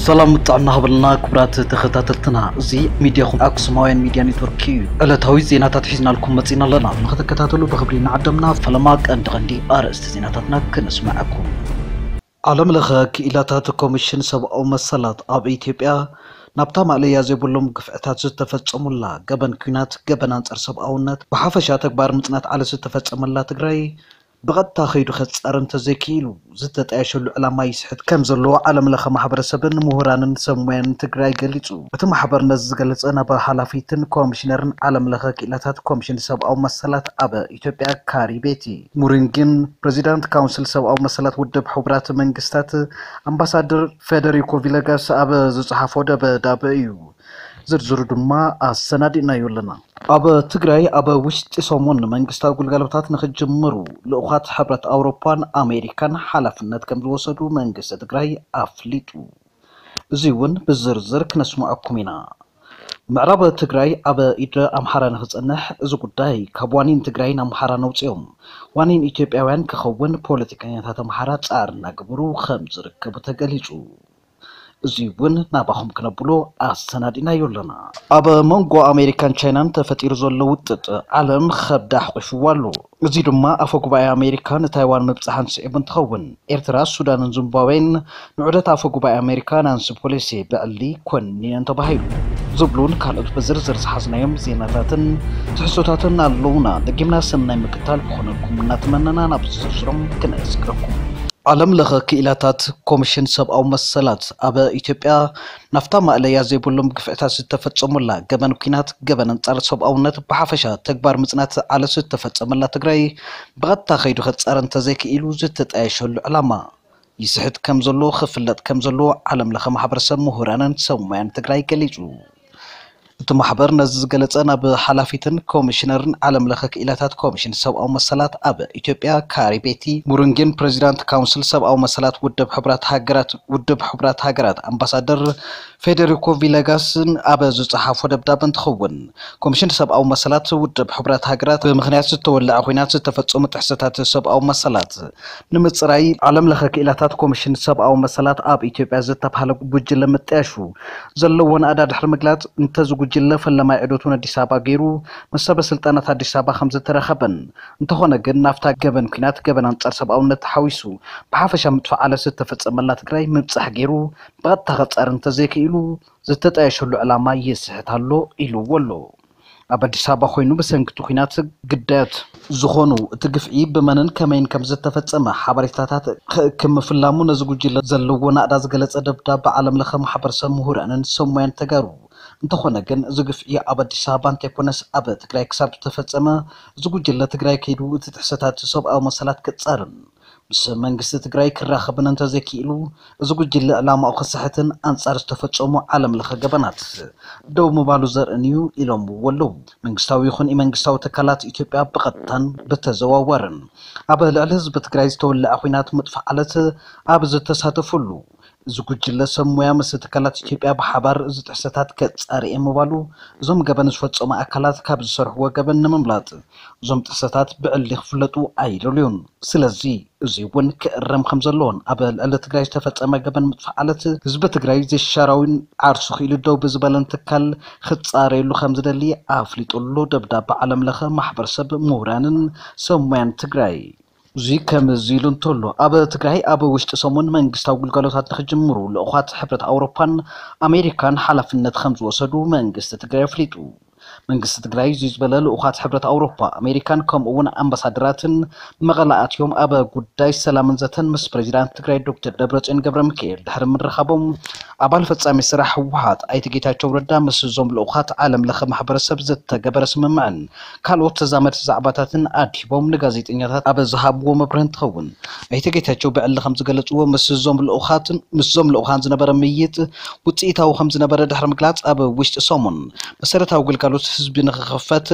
ሰላም ጥዕና ሃበልና ክቡራት ተኸታተልትና፣ እዚ ሚድያኹም ኣክሱማውያን ሚድያ ኔትወርክ እዩ። ዕለታዊ ዜናታት ሒዝናልኩም መጺና ኣለና፣ ንኽትከታተሉ ብኽብሪ ንዓደምና። ፈለማ ቀንዲ ቀንዲ ኣርእስቲ ዜናታትና ክነስምዐኩም። ዓለም ለኸ ክኢላታት ኮሚሽን ሰብኣዊ መሰላት ኣብ ኢትዮጵያ ናብታ ማእለያ ዘይብሎም ግፍዕታት ዝተፈጸሙላ ገበን ኲናት፣ ገበን ኣንጻር ሰብኣውነት፣ ብሓፈሻ ተግባር ምጽናት ዓለ ዝተፈጸመላ ትግራይ ብቐጥታ ከይዱ ከጻሪ እንተዘይክኢሉ ዝተጣየሸሉ ዕላማ ይስሕት ከም ዘሎ ዓለም ለኸ ማሕበረሰብን ምሁራንን ሰብ ሞያን ትግራይ ገሊጹ። እቲ ማሕበር ነዚ ዝገለጸ ናብ ሓላፊትን ኮሚሽነርን ዓለም ለኸ ክኢላታት ኮሚሽን ሰብኣዊ መሰላት ኣብ ኢትዮጵያ ካሪ ቤቲ ሙሪንጊን ፕሬዚዳንት ካውንስል ሰብኣዊ መሰላት ውድብ ሕቡራት መንግስታት ኣምባሳደር ፌደሪኮ ቪለጋስ ኣብ ዝጸሓፎ ደብዳበ እዩ። ዝርዝሩ ድማ ኣሰናዲእናዮ ኣለና። ኣብ ትግራይ ኣብ ውሽጢ ሰሙን መንግስታዊ ግልጋሎታት ንክጅምሩ ልኡኻት ሕብረት ኣውሮፓን ኣሜሪካን ሓላፍነት ከም ዝወሰዱ መንግስቲ ትግራይ ኣፍሊጡ። እዚ እውን ብዝርዝር ክነስምዐኩም ኢና። ምዕራብ ትግራይ ኣብ ኢድ ኣምሓራ ንክጸንሕ እዚ ጉዳይ ካብ ዋኒን ትግራይን ኣምሓራን ኣውጺኦም ዋኒን ኢትዮጵያውያን ክኸውን ፖለቲከኛታት ኣምሓራ ጻዕሪ እናገበሩ ከም ዝርከቡ ተገሊጹ። እዚ እውን ናባኹም ክነብሎ ኣሰናዲእናዮ ኣለና። ኣብ መንጎ ኣሜሪካን ቻይናን ተፈጢሩ ዘሎ ውጥጥ ዓለም ከብዳ ኣሕቂፍዎ ኣሎ። እዚ ድማ ኣፈ ጉባኤ ኣሜሪካ ንታይዋን ምብጻሕን ስዒቡ እንትኸውን፣ ኤርትራ፣ ሱዳንን ዚምባብዌን ንዑደት ኣፈ ጉባኤ ኣሜሪካ ናንሲ ፖሎሲ ብዕሊ ኮንነን ተባሂሉ ዝብሉን ካልኦት ብዝርዝር ዝሓዝናዮም ዜናታትን ትሕዝቶታትን ኣለዉና። ደጊምና ሰናይ ምክታል ክኾነልኩም እናተመነና ናብ ዝርዝሮም ክነስግረኩም። ዓለም ለኸ ክኢላታት ኮሚሽን ሰብኣዊ መሰላት ኣብ ኢትዮጵያ ናብታ ማእለያ ዘይብሎም ግፍዕታት ዝተፈጸሙላ ገበን ኲናት፣ ገበን ኣንጻር ሰብኣውነት፣ ብሓፈሻ ተግባር ምጽናት ዓለ ዝተፈጸመላ ትግራይ ብቐጥታ ከይዱ ከጻሪ እንተዘይክኢሉ ዝተጣየሸሉ ዕላማ ይስሕት ከም ዘሎ ክፍለጥ ከም ዘለዎ ዓለም ለኸ ማሕበረሰብ ምሁራንን ሰብ ሞያን ትግራይ ገሊጹ። እቲ ማሕበር ነዚ ዝገለጸ ናብ ሓላፊትን ኮሚሽነርን ዓለም ለኸ ክኢላታት ኮሚሽን ሰብኣዊ መሰላት ኣብ ኢትዮጵያ ካሪ ቤቲ ሙሩንጊን ፕሬዚዳንት ካውንስል ሰብኣዊ መሰላት ውድብ ሕቡራት ሃገራት ውድብ ሕቡራት ሃገራት ኣምባሳደር ፌዴሪኮ ቪለጋስን ኣብ ዝጸሓፎ ደብዳበ እንትኸውን፣ ኮሚሽን ሰብኣዊ መሰላት ውድብ ሕቡራት ሃገራት ብምኽንያት ዝተወለዐ ኲናት ዝተፈጸሙ ጥሕሰታት ሰብኣዊ መሰላት ንምጽራይ ዓለም ለኸ ክኢላታት ኮሚሽን ሰብኣዊ መሰላት ኣብ ኢትዮጵያ ዝተባህለ ጉጅለ ምጥያሹ ዘለዎ ናእዳ ድሕሪ ምግላጽ፣ እንተዚ ጉጅለ ፈለማይ ዑደቱ ንኣዲስ ኣበባ ገይሩ ምስ ሰበ ስልጣናት ኣዲስ ኣበባ ከም ዝተረኸበን፣ እንተኾነ ግን ናብታ ገበን ኲናት፣ ገበን ኣንጻር ሰብኣውነት ተሓዊሱ ብሓፈሻ ምጥፋእ ዓለ ዝተፈጸመላ ትግራይ ምብጻሕ ገይሩ ብቐጥታ ከጻሪ እንተዘይክኢሉ ዝተጣየሸሉ ዕላማ ይስሕት ኣሎ ኢልዎ ኣሎ። ኣብ ኣዲስ ኣበባ ኮይኑ ብሰንኪ እቲ ኲናት ግዳያት ዝኾኑ እቲ ግፍዒ ብመንን ከመይን ከም ዝተፈጸመ ሓበሬታታት ክእክብ ምፍላሙ ነዚ ጉጅለ ዘለዎ ናእዳ ዝገለጸ ደብዳበ ዓለም ለኸ ማሕበረሰብ ምሁራንን ሰብ ሞያን ተጋሩ፣ እንተኾነ ግን እዚ ግፍዒ ኣብ ኣዲስ ኣበባ እንተይኮነስ ኣብ ትግራይ ክሳብ ዝተፈጸመ እዚ ጉጅለ ትግራይ ከይዱ እቲ ጥሕሰታት ሰብኣዊ መሰላት ክጻርን ምስ መንግስቲ ትግራይ ክራኸብን እንተዘይክኢሉ፣ እዚ ጉጅለ ዕላማኡ ክስሕትን ኣንጻር ዝተፈጸሙ ዓለም ለኸ ገበናት ደው ምባሉ ዘርእን እዩ ኢሎምዎ ኣለዉ። መንግስታዊ ይኹን ኢመንግስታዊ ትካላት ኢትዮጵያ ብቐጥታን ብተዘዋዋርን ኣብ ልዕሊ ህዝቢ ትግራይ ዝተወለዐ ኲናት ምጥፋእ ዓለት ኣብ ዝተሳተፉሉ፣ እዚ ጉጅለ ሰብ ሞያ ምስ ትካላት ኢትዮጵያ ብሓባር እዚ ጥሕሰታት ከጻሪ እየ ምባሉ፣ እዞም ገበን ዝፈጸሙ ኣካላት ካብ ዝሰርሕዎ ገበን ንምምላጥ እዞም ጥሕሰታት ብዕሊ ክፍለጡ ኣይደልዩን። ስለዚ እዚ እውን ክእረም ከም ዘለዎን ኣብ ልዕሊ ትግራይ ዝተፈጸመ ገበን ምጥፋእ ዓለት ህዝቢ ትግራይ ዘይሻራዊን ዓርሱ ክኢሉ ደው ብዝበለን ትካል ክጻረየሉ ከም ዝደሊ ኣፍሊጡ ኣሎ ደብዳበ ዓለም ለኸ ማሕበረሰብ ምሁራንን ሰብ ሞያን ትግራይ። እዚ ከምዚ ኢሉ እንተሎ፣ ኣብ ትግራይ ኣብ ውሽጢ ሰሙን መንግስታዊ ግልጋሎታት ንክጅምሩ ልኡኻት ሕብረት ኣውሮፓን ኣሜሪካን ሓላፍነት ከም ዝወሰዱ መንግስቲ ትግራይ ኣፍሊጡ። መንግስቲ ትግራይ እዚ ዝበለ ልኡኻት ሕብረት ኣውሮፓ፣ ኣሜሪካን ከምኡ እውን ኣምባሳደራትን መቐለ ኣትዮም ኣብ ጉዳይ ሰላምን ዘተን ምስ ፕሬዚዳንት ትግራይ ዶክተር ደብረፅዮን ገብረ ሚካኤል ድሕሪ ምርኻቦም፣ ኣባል ፈጻሚ ስራሕ ህወሓት ኣይተ ጌታቸው ረዳ ምስ እዞም ልኡኻት ዓለም ለኸ ማሕበረሰብ ዝተገበረ ስምምዕን ካልኦት ተዛመድቲ ዛዕባታትን ኣድሂቦም ንጋዜጠኛታት ኣብ ዝሃብዎ መብርሂ እንትኸውን፣ ኣይተ ጌታቸው ብዕሊ ከም ዝገለፅዎ፣ ምስ እዞም ልኡኻትን ምስዞም ልኡኻን ዝነበረ ምይይጥ ውፅኢታዊ ከም ዝነበረ ድሕሪ ምግላፅ፣ ኣብ ውሽጢ ሰሙን መሰረታዊ ግልጋሎት ህዝቢ ንክኽፈት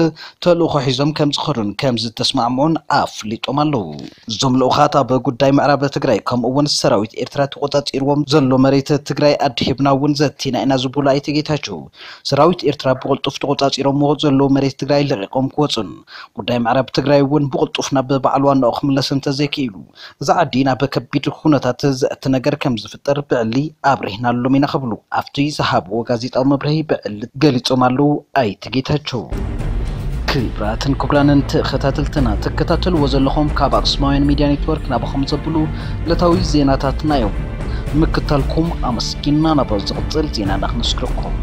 ተልእኾ ሒዞም ከም ዝኸዱን ከም ዝተስማዕምዑን ኣፍሊጦም ኣለዉ። እዞም ልኡኻት ኣብ ጉዳይ ምዕራብ ትግራይ ከምኡ እውን ሰራዊት ኤርትራ ተቆጻጺርዎም ዘሎ መሬት ትግራይ ኣዲ ሂብና እውን ዘቲና ኢና ዝበሉ ኣይተ ጌታቸው፣ ሰራዊት ኤርትራ ብቕልጡፍ ተቖጻጺሮምዎ ዘለዉ መሬት ትግራይ ለቒቖም ክወፁን ጉዳይ ምዕራብ ትግራይ እውን ብቕልጡፍ ናብ ባዕሉ ዋናኡ ክምለስ እንተዘይክኢሉ፣ እዚ ዓዲ ናብ ከቢድ ኩነታት ዘእቲ ነገር ከም ዝፍጠር ብዕሊ ኣብሪህናሎም ኢና ክብሉ ኣብቲ ዝሃብዎ ጋዜጣዊ መብርሂ ብዕሊ ገሊጾም ኣለዉ ኣይተ ጌታቸው። ክብራትን ክቡራንን ተኸታተልትና፣ ትከታተልዎ ዘለኹም ካብ ኣክሱማውያን ሚድያ ኔትወርክ ናባኹም ዘብሉ ዕለታዊ ዜናታትና እዮም። ምክታልኩም ኣመስጊንና፣ ናብ ዝቕጽል ዜናና ክንስግረኩም።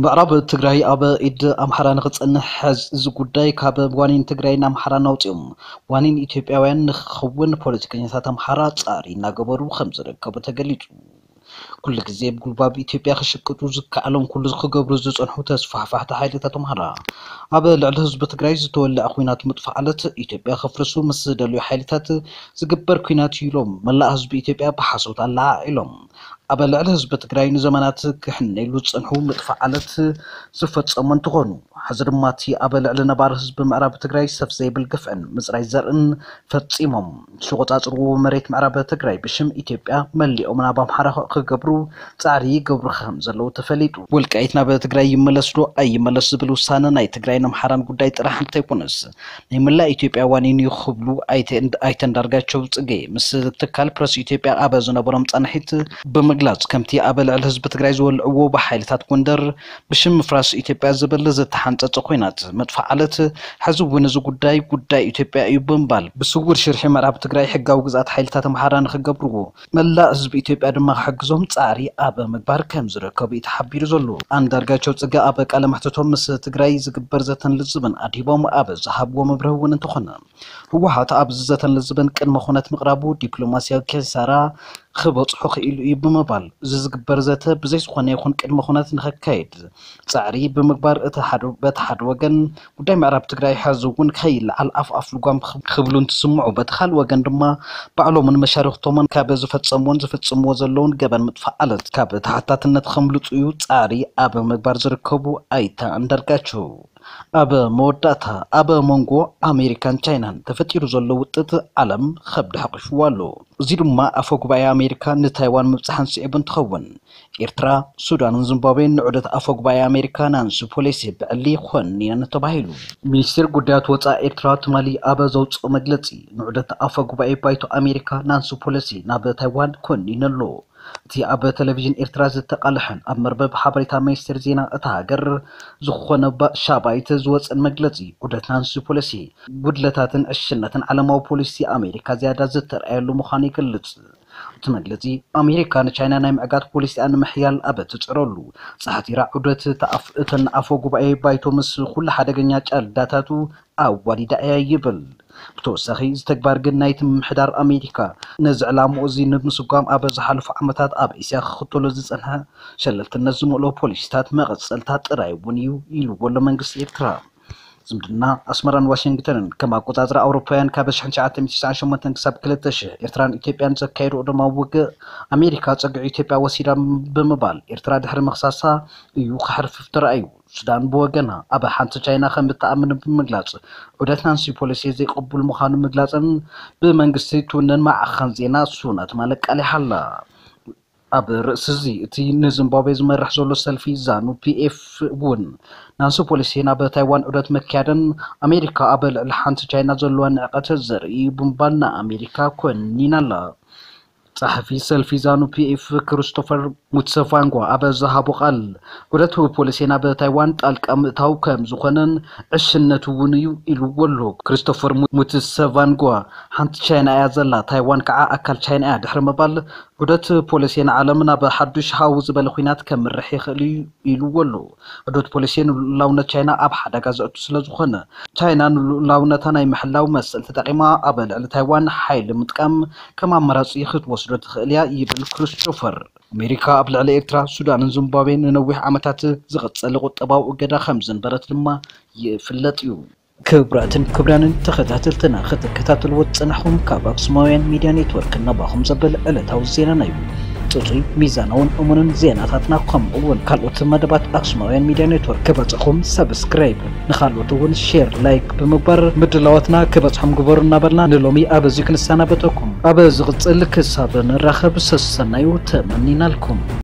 ምዕራብ ትግራይ ኣብ ኢድ ኣምሓራ ንኽጸንሕ ሕዚ እዚ ጉዳይ ካብ ዋኒን ትግራይን ኣምሓራን ኣውጺኦም ዋኒን ኢትዮጵያውያን ንኽኸውን ፖለቲከኛታት ኣምሓራ ጻዕሪ እናገበሩ ከም ዝርከቡ ተገሊጹ። ኩሉ ግዜ ብጉልባብ ኢትዮጵያ ክሽቅጡ ዝከኣሎም ኩሉ ክገብሩ ዝጸንሑ ተስፋሕፋሕቲ ሓይልታት ኣምሓራ ኣብ ልዕሊ ህዝቢ ትግራይ ዝተወለዐ ኲናት ምጥፋእ ዓለት ኢትዮጵያ ከፍርሱ ምስ ዝደልዩ ሓይልታት ዝግበር ኲናት እዩ ኢሎም መላእ ህዝቢ ኢትዮጵያ ብሓሶት ኣለዓዒሎም። ኣብ ልዕሊ ህዝቢ ትግራይ ንዘመናት ክሕነይሉ ዝጸንሑ ምጥፋእ ዓለት ዝፈጸሙ እንትኾኑ፣ ሕዚ ድማ እቲ ኣብ ልዕሊ ነባሪ ህዝቢ ምዕራብ ትግራይ ሰፍ ዘይብል ግፍዕን ምጽራይ ዘርእን ፈጺሞም ዝቆጻጽርዎ መሬት ምዕራብ ትግራይ ብሽም ኢትዮጵያ መሊኦም ናብ ኣምሓራ ክገብሩ ጻዕሪ ይገብሩ ከም ዘለዉ ተፈሊጡ። ወልቃይት ናብ ትግራይ ይመለስ ዶ ኣይመለስ ዝብል ውሳነ ናይ ትግራይን ኣምሓራን ጉዳይ ጥራሕ እንተይኮነስ ናይ መላእ ኢትዮጵያ ዋኒን እዩ ክብሉ ኣይተ-፣ ኣይተ እንዳርጋቸው ጽጌ ምስ ትካል ፕረስ ኢትዮጵያ ኣብ ዝነበሮም ጻንሒት ብምግላጽ፣ ከምቲ ኣብ ልዕሊ ህዝቢ ትግራይ ዝወልዕዎ ብሓይልታት ጎንደር ብሽም ምፍራስ ኢትዮጵያ ዝብል ዝተሓንጸጸ ኲናት ምጥፋእ ዓለት፣ ሕዚ እውን እዚ ጉዳይ ጉዳይ ኢትዮጵያ እዩ ብምባል ብስውር ሽርሒ ምዕራብ ትግራይ ሕጋዊ ግዝኣት ሓይልታት ኣምሓራ ንኽገብርዎ፣ መላእ ህዝቢ ኢትዮጵያ ድማ ክሕግዞም ጻዕሪ ኣብ ምግባር ከም ዝርከቡ እዩ ተሓቢሩ ዘሎ። ኣንዳርጋቸው ጽጌ ኣብ ቃለ መሕትቶም ምስ ትግራይ ዝግበር ዘተን ልዝብን ኣድሂቦም ኣብ ዝሃብዎ መብርሂ እውን እንተኾነ፣ ህወሓት ኣብዚ ዘተን ልዝብን ቅድመ ኩነት ምቕራቡ ዲፕሎማስያዊ ኪሳራ ክበጽሖ ክኢሉ እዩ ብምባል፣ እዚ ዝግበር ዘተ ብዘይ ዝኾነ ይኹን ቅድመ ኩነት ንኸካየድ ጻዕሪ ብምግባር፣ እቲ ሓደ፣ በቲ ሓደ ወገን ጉዳይ ምዕራብ ትግራይ ሕዚ እውን ከይለዓል ኣፍ ኣፍ ልጓም ክብ-፣ ክብሉ እንትስምዑ፣ በቲ ካልእ ወገን ድማ ባዕሎምን መሻርኽቶምን ካብ ዝፈጸምዎን ዝፍጽምዎ ዘለውን ገበን ምጥፋእ ዓለት ካብ ተሓታትነት ከምልጹ እዩ ጻዕሪ ኣብ ምግባር ዝርከቡ ኣይተ ኣንዳርጋቸው። ኣብ መወዳእታ፣ ኣብ መንጎ ኣሜሪካን ቻይናን ተፈጢሩ ዘሎ ውጥት ዓለም ከብዲ ሓቂፍዎ ኣሎ። እዚ ድማ ኣፈ ጉባኤ ኣሜሪካ ንታይዋን ምብጻሕን ስዒቡ እንትኸውን፣ ኤርትራ፣ ሱዳንን ዚምባብዌን ንዑደት ኣፈ ጉባኤ ኣሜሪካ ናንሲ ፖሎሲ ብዕሊ ኮኒነን ተባሂሉ። ሚኒስቴር ጉዳያት ወጻኢ ኤርትራ ትማሊ ኣብ ዘውጽኦ መግለጺ፣ ንዑደት ኣፈ ጉባኤ ባይቶ ኣሜሪካ ናንሲ ፖሎሲ ናብ ታይዋን ኮኒኑ ኣሎ። እቲ ኣብ ቴሌቪዥን ኤርትራ ዝተቓልሐን ኣብ መርበብ ሓበሬታ ሚኒስቴር ዜና እታ ሃገር ዝኾነ ባ-፣ ሻባይት ዝወጸን መግለጺ፣ ዑደት ናንሲ ፖሎሲ ጉድለታትን ዕሽነትን ዓለማዊ ፖሊሲ ኣሜሪካ ዝያዳ ዝተርኣየሉ ምዃኑ ይገልጽ። እቲ መግለጺ፣ ኣሜሪካ ንቻይና ናይ ምዕጋት ፖሊሲኣ ንምሕያል ኣብ እትጽዕረሉ፣ ጻሕቲራ ዑደት ተኣፍ-፣ እተን ኣፈ ጉባኤ ባይቶ ምስ ኩሉ ሓደገኛ ጫልዳታቱ ኣዋዲዳ እያ ይብል። ብተወሳኺ፣ እዚ ተግባር ግን ናይቲ ምምሕዳር ኣሜሪካ ነዚ ዕላምኡ እዚ ንምስጓም ኣብ ዝሓለፉ ዓመታት ኣብ እስያ ክኽተሎ ዝጸንሐ ሸለልትነት ዝመልኦ ፖሊሲታት መቐጸልታ ጥራይ እውን እዩ ኢልዎ ኣሎ መንግስቲ ኤርትራ። ዝምድና ኣስመራን ዋሽንግተንን ከም ኣቆጻጽራ ኣውሮፓውያን ካብ ሽሕን ትሽዓተ ሚእትን ትስዓን ሸሞንተን ክሳብ ክልተ ሽሕ ኤርትራን ኢትዮጵያን ዘካየድኦ ደማዊ ውግእ ኣሜሪካ ጸግዒ ኢትዮጵያ ወሲዳ ብምባል ኤርትራ ድሕሪ ምኽሳሳ እዩ ክሓርፍፍ ተራእዩ። ሱዳን ብወገና ኣብ ሓንቲ ቻይና ከም እትኣምን ብምግላጽ ዑደት ናንሲ ፖሎሲ ዘይቅቡል ምዃኑ ምግላጽን ብመንግስቲ ትውነን ማዕኸን ዜና ሱና ትማሊ ኣቃሊሓ ኣላ። ኣብ ርእሲ እዚ፣ እቲ ንዚምባብዌ ዝመርሕ ዘሎ ሰልፊ ዛኑ ፒ ኤፍ እውን ናንሲ ፖሎሲ ናብ ታይዋን ዑደት ምክያደን ኣሜሪካ ኣብ ልዕሊ ሓንቲ ቻይና ዘለዋ ንዕቀት ዘርኢ እዩ ብምባል ንኣሜሪካ ኮኒና ኣላ። ጸሓፊ ሰልፊ ዛኑ ፒ ኤፍ ክሪስቶፈር ሙትሰፋንጓ ኣብ ዝሃቦ ቃል፣ ዑደት ፖሎሲ ናብ ታይዋን ጣልቃ ምእታው ከም ዝኾነን ዕሽነት እውን እዩ ኢልዎ ኣሎ። ክሪስቶፈር ሙ-፣ ሙትሰፋንጓ፣ ሓንቲ ቻይና እያ ዘላ፣ ታይዋን ከዓ ኣካል ቻይና እያ ድሕሪ ምባል፣ ዑደት ፖሎሲ ንዓለም ናብ ሓዱሽ ሃው ዝበለ ኲናት ከምርሕ ይኽእል እዩ ኢልዎ ኣሎ። ዑደት ፖሎሲ ንልኡላውነት ቻይና ኣብ ሓደጋ ዘእቱ ስለ ዝኾነ፣ ቻይና ንልኡላውነታ ናይ ምሕላው መሰል ተጠቒማ ኣብ ልዕሊ ታይዋን ሓይሊ ምጥቃም ከም ኣማራጺ ክትወስዶ ትኽእል እያ ይብል ክሪስቶፈር። ኣሜሪካ ኣብ ልዕሊ ኤርትራ፣ ሱዳንን ዚምባብዌን ንነዊሕ ዓመታት ዝቐጸለ ቁጠባዊ እገዳ ከም ዝንበረት ድማ ይፍለጥ እዩ። ክቡራትን ክቡራንን ተኸታተልትና፣ ክትከታተልዎ ዝጸናሕኩም ካብ ኣክሱማውያን ሚድያ ኔትወርክ ናባኹም ዘብል ዕለታዊ ዜናና እዩ። ጽጹይ፣ ሚዛናውን እሙንን ዜናታትና ከምኡ እውን ካልኦት መደባት ኣክሱማውያን ሚድያ ኔትወርክ ክበጽሕኩም ሰብስክራይብ፣ ንኻልኦት እውን ሼር፣ ላይክ ብምግባር ምድላዋትና ክበጽሖም ግበሩ እናበልና ንሎሚ ኣብዚ ክንሰናበተኩም። ኣብ ዝቕጽል ክሳብ ንራኸብ ሰሰናዩ ተመኒናልኩም።